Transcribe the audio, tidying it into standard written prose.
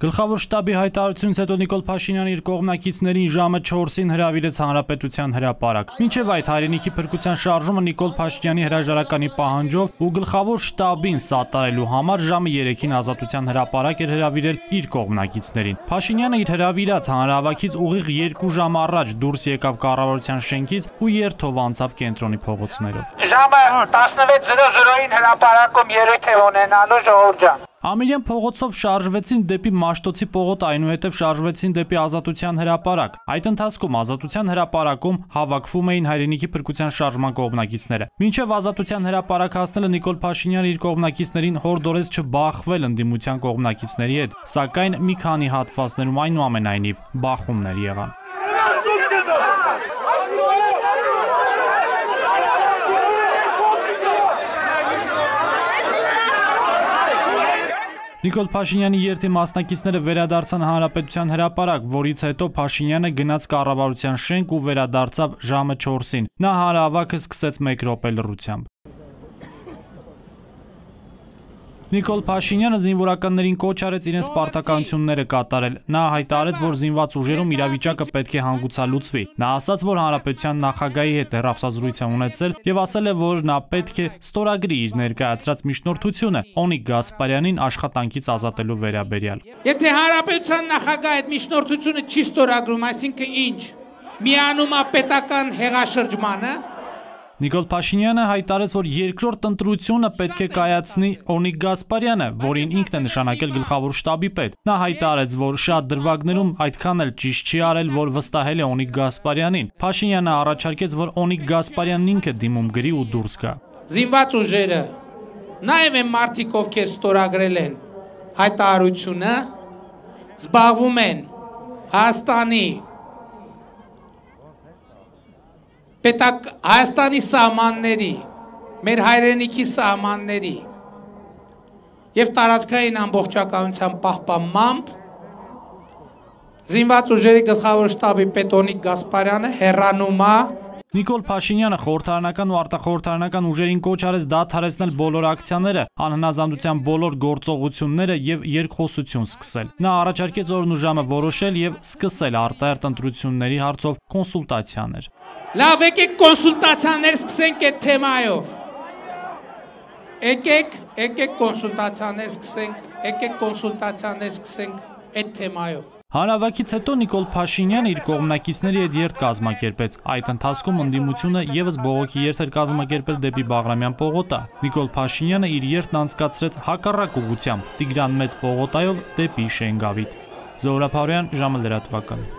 Գլխավոր շտաբի հայտարարությունից հետո Նիկոլ Փաշինյանը իր կողմնակիցներին ժամը 4-ին հրավիրեց Հանրապետության հրապարակ։ Մինչև այդ հայրենիքի փրկության շարժումը Նիկոլ Փաշինյանի հրաժարականի պահանջով ու գլխավոր շտաբին սատարելու համար ժամը 3-ին Ազատության հրապարակ էր հրավիրել իր կողմնակիցներին։ Փաշինյանը իր հրավիրած հանրահավաքից ուղիղ 2 ժամ առաջ դուրս եկավ կառավարության շենքից ու երթով անցավ կենտրոնի փողոցներով։ Ժամը 16:00-ին հրապարակում երեկ է ունենալու ժողովուրդ ջան։ Ամիրյան փողոցով շարժվեցին դեպի Մաշտոցի պողոտ, այնուհետև շարժվեցին դեպի Ազատության հրապարակ։ Այդ ընթացքում Ազատության հրապարակում հավաքվում էին հայրենիքի փրկության շարժման կողմնակիցները։ Մինչև Ազատության հրապարակ հասնելը Նիկոլ Փաշինյանը իր կողմնակիցներին հորդորեց չբախվել ընդդիմության կողմնակիցների հետ, սակայն մի քանի հատվածներում այնուամենայնիվ բախումներ եղան։ Նիկոլ Փաշինյանի երթի մասնակիցները վերադարձան Հանրապետության հրապարակ, որից հետո Փաշինյանը գնաց կառավարության շենք ու վերադարձավ ժամը 4-ին։ Նա հանրահավաքը սկսեց 1 րոպե լռությամբ։ Նիկոլ Փաշինյանը զինվորականներին կոչ արեց իրենց պարտականությունները կատարել։ Նա հայտարարեց, որ զինված ուժերում իրավիճակը պետք է հանգուցալուծվի։ Նա ասաց, որ Հանրապետության նախագահի հետ հեռախոսազրույց է ունեցել եւ ասել է, որ նա պետք է ստորագրի իր ներկայացրած միջնորդությունը Օնիկ Գասպարյանին աշխատանքից ազատելու վերաբերյալ։ Եթե Հանրապետության նախագահը այդ միջնորդությունը չի ստորագրում, այսինքն ինչ, միանում է պետական հեղաշրջմանը։ Նիկոլ Փաշինյանը հայտարարեց, որ երկրորդ ընտրությունը պետք է կայացնի Օնիկ Գասպարյանը, որին ինքն է նշանակել գլխավոր շտաբի պետ։ Նա հայտարարեց, որ շատ դրվագներում այդքան էլ ճիշտ չի արել, որ վստահել է Օնիկ Գասպարյանին։ Փաշինյանը առաջարկեց, որ Օնիկ Գասպարյանն ինքը դիմում գրի ու դուրս գա։ Զինված ուժերը, նաև այն մարդիկ, ովքեր ստորագրել են հայտարարությունը, զբաղվում են Հայաստանի Հայաստանի սահմանների, մեր հայրենիքի սահմանների և տարածքային ամբողջականության պահպանմամբ զինված ուժերի գլխավոր շտաբի պետ Օնիկ Գասպարյանը հեռանում է։ Նիկոլ Փաշինյանը խորհրդարանական ու արտախորհրդարանական ուժերին կոչ արեց դադարեցնել բոլոր ակցիաները, անհնազանդության բոլոր գործողությունները եւ երկխոսություն սկսել։ Նա առաջարկեց օրն ու ժամը որոշել եւ սկսել արտահերթ ընտրությունների հարցով կոնսուլտացիաներ։ Լավ, եկեք կոնսուլտացիաներ սկսենք այդ թեմայով։ Եկեք կոնսուլտացիաներ սկսենք այդ թեմայով։ Հանրահավաքից հետո Նիկոլ Փաշինյանը իր կողմնակիցների հետ երթ կազմակերպեց։ Այդ ընթացքում ընդդիմությունը եւս բողոքի երթ էր կազմակերպել դեպի Բաղրամյան պողոտա։ Նիկոլ Փաշինյանը իր երթն անցկացրեց հակառակ ուղղությամբ՝ Տիգրան Մեծ պողոտայով դեպի Շենգավիթ։ Զոհրաբ Հարոյան, ժամը լրատվական։